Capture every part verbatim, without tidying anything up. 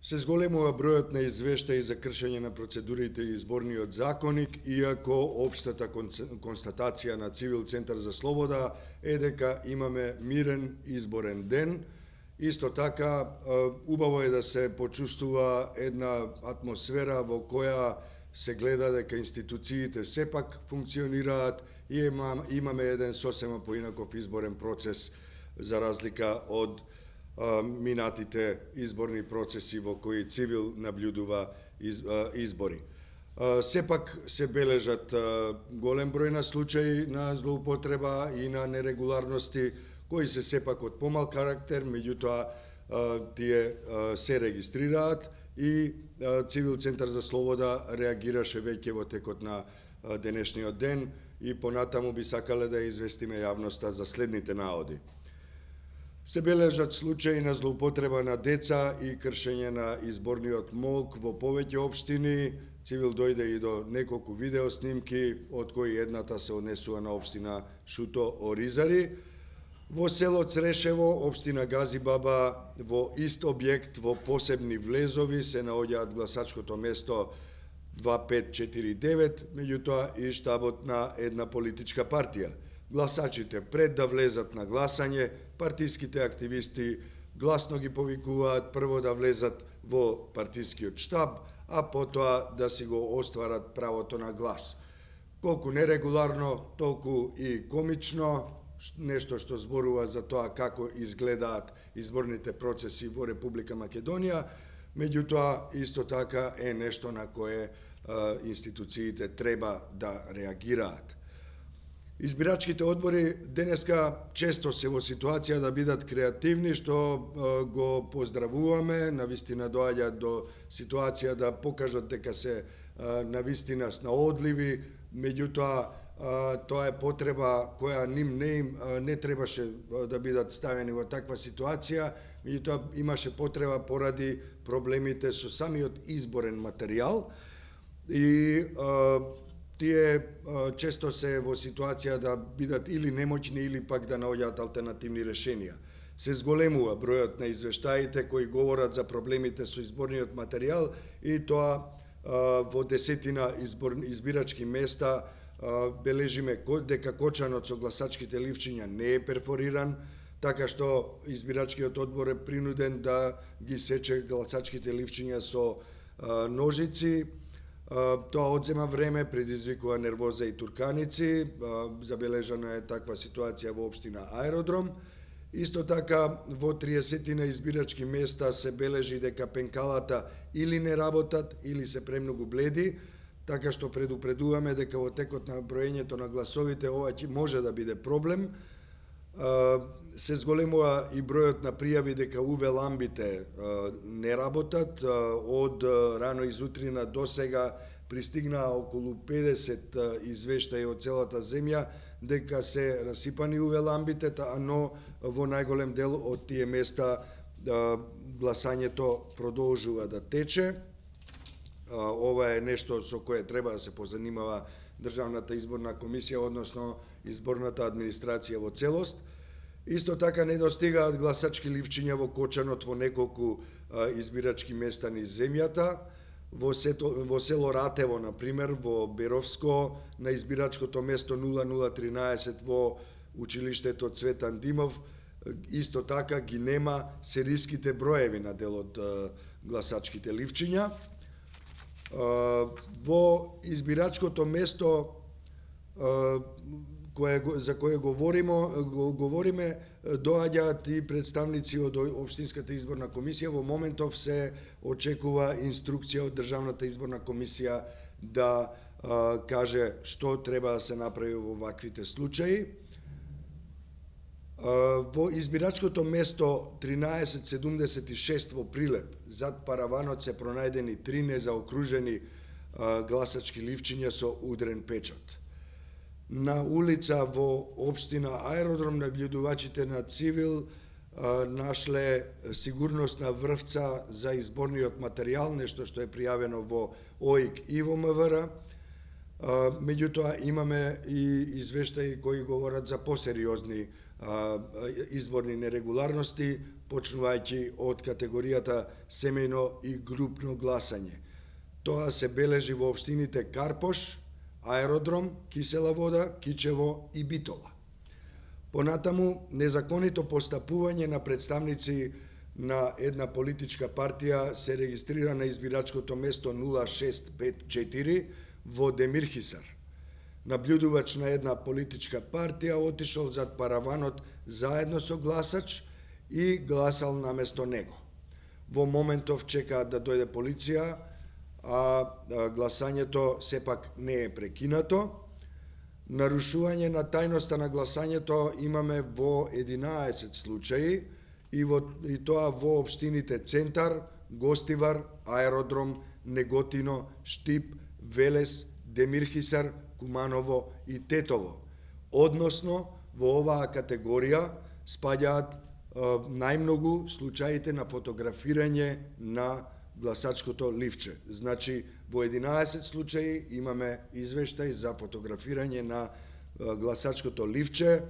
Се зголемува бројот на извештаи за кршење на процедурите и изборниот законник, иако општата констатација на Цивил Центар за слобода е дека имаме мирен изборен ден. Исто така, убаво е да се почувствува една атмосфера во која се гледа дека институциите сепак функционираат и имаме еден сосема поинаков изборен процес за разлика од минатите изборни процеси во кои Цивил наблюдува избори. Сепак се бележат голем број на случаи на злоупотреба и на нерегуларности кои се сепак од помал карактер, меѓутоа тие се регистрираат и Цивил Центар за слобода реагираше веќе во текот на денешниот ден и понатаму би сакале да известиме јавноста за следните наоди. Се бележат случаи на злоупотреба на деца и кршење на изборниот молк во повеќе општини. Цивил дојде и до неколку видеоснимки, од кои едната се однесува на општина Шуто Оризари. Во село Црешево, општина Газибаба, во ист објект во посебни влезови се наоѓаат гласачкото место два пет четири девет, меѓутоа и штабот на една политичка партија. Гласачите пред да влезат на гласање, партиските активисти гласно ги повикуваат прво да влезат во партискиот штаб, а потоа да си го остварат правото на глас. Колку нерегуларно, толку и комично, нешто што зборува за тоа како изгледаат изборните процеси во Република Македонија, меѓутоа исто така е нешто на кое институциите треба да реагираат. Избирачките одбори денеска често се во ситуација да бидат креативни, што го поздравуваме, навистина доаѓа до ситуација да покажат дека се навистина снаодливи, меѓутоа тоа е потреба која ним не им не требаше да бидат ставени во таква ситуација, меѓутоа имаше потреба поради проблемите со самиот изборен материјал и тие често се во ситуација да бидат или немоќни или пак да наоѓаат алтернативни решенија. Се зголемува бројот на извештаите кои говорат за проблемите со изборниот материјал и тоа во десетина избирачки места бележиме дека кочанот со гласачките ливчиња не е перфориран, така што избирачкиот одбор е принуден да ги сече гласачките ливчиња со ножици. Тоа одзема време, предизвикува нервоза и турканици, забележана е таква ситуација во општина Аеродром. Исто така, во триесетина избирачки места се бележи дека пенкалата или не работат, или се премногу бледи, така што предупредуваме дека во текот на броењето на гласовите ова ќе може да биде проблем. Се зголемува и бројот на пријави дека УВ ламбите не работат. Од рано изутрина до сега пристигнаа околу педесет извештаи од целата земја дека се расипани УВ ламбите, но во најголем дел од тие места гласањето продолжува да тече. Ова е нешто со кое треба да се позанимава Државната изборна комисија, односно изборната администрација во целост. Исто така не достигаат гласачки ливчиња во кочанот во неколку избирачки места низ земјата. Во, сето, во село Ратево, например, во Беровско, на избирачкото место нула нула тринаесет во училиштето Цветан Димов, исто така ги нема сериските броеви на дел од гласачките ливчиња. Во избирачкото место кое, за кое говориме, говориме доаѓаат и представници од Општинската изборна комисија. Во моментов се очекува инструкција од Државната изборна комисија да а, каже што треба да се направи во ваквите случаи. А, во избирачкото место тринаесет седумдесет и шест во Прилеп, зад параванот се пронајдени три незаокружени а, гласачки ливчиња со удрен печат. На улица во општина Аеродром наблюдувачите на Цивил а, нашле сигурносна врвца за изборниот материјал, нешто што е пријавено во ОИК и во МВР. Меѓутоа имаме и извештаи кои говорат за посериозни изборни нерегуларности, почнувајќи од категоријата семејно и групно гласање. Тоа се бележи во општините Карпош, Аеродром, Кисела Вода, Кичево и Битола. Понатаму, незаконито постапување на представници на една политичка партија се регистрира на избирачкото место нула шест пет четири во Демирхисар. Наблюдувач на една политичка партија отишол зад параванот заедно со гласач и гласал наместо него. Во моментов чекаат да дојде полиција, а гласањето сепак не е прекинато. Нарушување на тајноста на гласањето имаме во единаесет случаи и, во, и тоа во општините Центар, Гостивар, Аеродром, Неготино, Штип, Велес, Демирхисар, Куманово и Тетово. Односно, во оваа категорија спаѓаат е, најмногу случаите на фотографирање на гласачкото ливче. Значи, во единаесет случаи имаме извештај за фотографирање на гласачкото ливче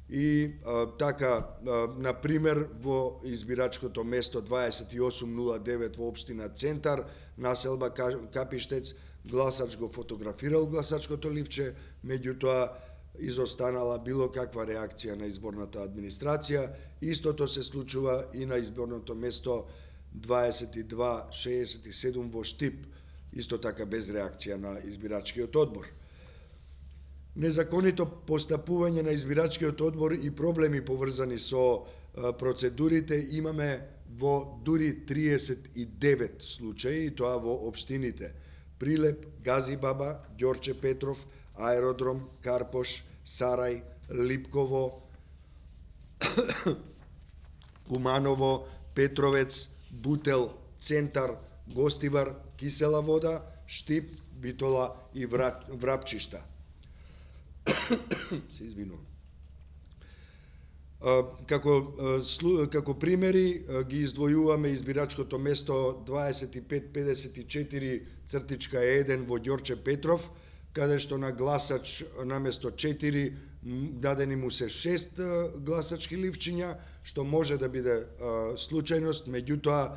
и а, така, а, например, во избирачкото место дваесет и осум нула девет во општина Центар, населба Капиштец, гласач го фотографирал гласачкото ливче, меѓутоа изостанала било каква реакција на изборната администрација. Истото се случува и на изборното место дваесет и два шеесет и седум во Штип, исто така без реакција на избирачкиот одбор. Незаконито постапување на избирачкиот одбор и проблеми поврзани со процедурите имаме во дури триесет и девет случаи, и тоа во општините Прилеп, Газибаба, Ѓорче Петров, Аеродром, Карпош, Сарај, Липково, Куманово, Петровец, Бутел, Центар, Гостивар, Кисела Вода, Штип, Битола и Врапчишта. Се извинувам. Како, како примери ги издвојуваме избирачкото место дваесет и пет педесет и четири еден во Ѓорче Петров, каде што на гласач наместо четири дадени му се шест гласачки ливчиња, што може да биде случајност, меѓутоа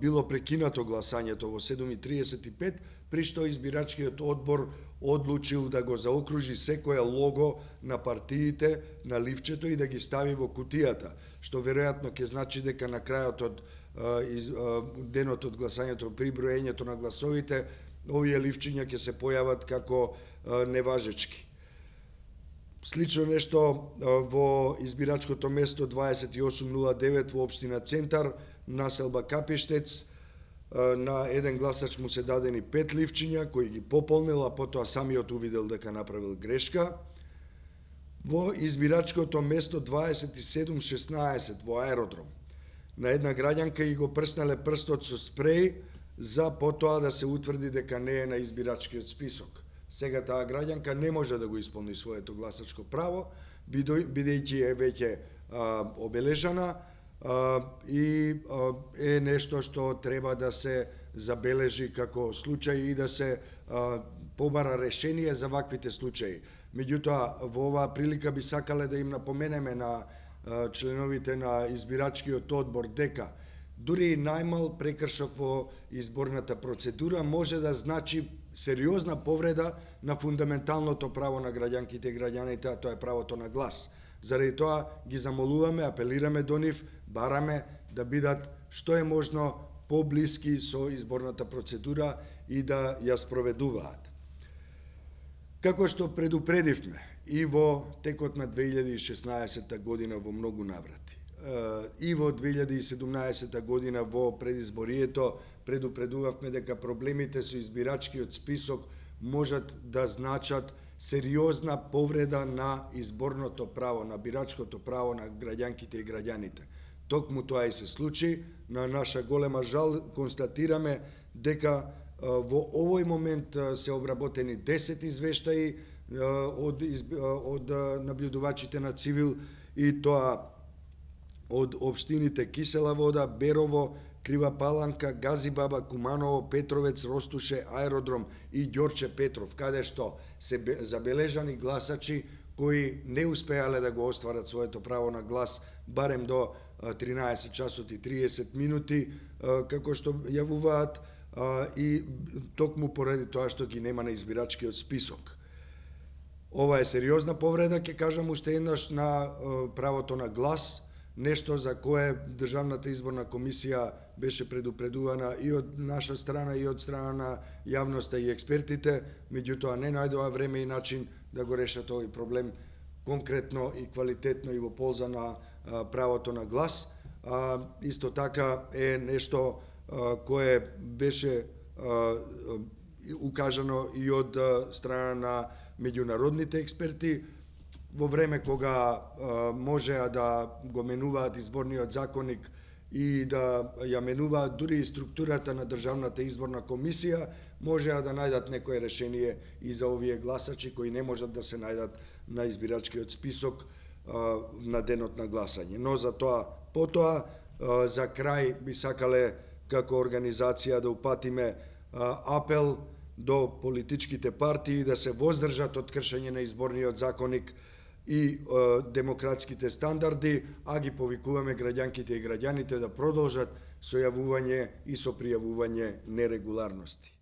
било прекинато гласањето во седум и триесет и пет, при што избирачкиот одбор одлучил да го заокружи секое лого на партиите на ливчето и да ги стави во кутијата, што веројатно ќе значи дека на крајот од денот од гласањето, при броењето на гласовите, овие ливчиња ќе се појават како неважечки. Слично нешто во избирачкото место дваесет и осум нула девет во општина Центар, населба Капиштец, на еден гласач му се дадени пет ливчиња, кои ги пополнил, а потоа самиот увидел дека направил грешка. Во избирачкото место дваесет и седум шеснаесет во Аеродром, на една граѓанка и го прснале прстот со спреј, за потоа да се утврди дека не е на избирачкиот список. Сега таа граѓанка не може да го исполни своето гласачко право, бидејќи е веќе обележана, Uh, и uh, е нешто што треба да се забележи како случај и да се uh, побара решение за ваквите случаи. Меѓутоа, во оваа прилика би сакале да им напоменеме на uh, членовите на избирачкиот одбор дека дури и најмал прекршок во изборната процедура може да значи сериозна повреда на фундаменталното право на граѓанките и граѓаните, а тоа е правото на глас. Заради тоа ги замолуваме, апелираме до нив, бараме да бидат што е можно поблиски со изборната процедура и да ја спроведуваат. Како што предупредивме и во текот на две илјади и шеснаесетта година во многу наврати, и во две илјади и седумнаесетта година во предизборието предупредувавме дека проблемите со избирачкиот список можат да значат сериозна повреда на изборното право, на бирачкото право на граѓанките и граѓаните. Токму тоа и се случи. На наша голема жал констатираме дека во овој момент се обработени десет извештаи од, од наблюдувачите на Цивил, и тоа од општините Кисела Вода, Берово, Крива Паланка, Газибаба, Куманово, Петровец, Ростуше, Аеродром и Ѓорче Петров, каде што се забележани гласачи кои не успеале да го остварат своето право на глас барем до тринаесет часот и триесет минути, како што јавуваат, и токму поради тоа што ги нема на избирачкиот список. Ова е сериозна повреда, ќе кажам уште еднаш, на правото на глас, нешто за кое Државната изборна комисија беше предупредувана и од наша страна и од страна на јавноста и експертите, меѓутоа не најдоа време и начин да го решат овој проблем конкретно и квалитетно и во полза на правото на глас. Исто така е нешто кое беше укажано и од страна на меѓународните експерти во време кога можеа да го менуваат изборниот законник и да ја менуваат дури и структурата на Државната изборна комисија, можеа да најдат некое решение и за овие гласачи кои не можат да се најдат на избирачкиот список на денот на гласање. Но за тоа потоа, за крај би сакале како организација да упатиме апел до политичките партии да се воздржат од кршење на изборниот законник и демократските стандарди, а ги повикуваме граѓанките и граѓаните да продолжат со јавување и со пријавување нерегуларности.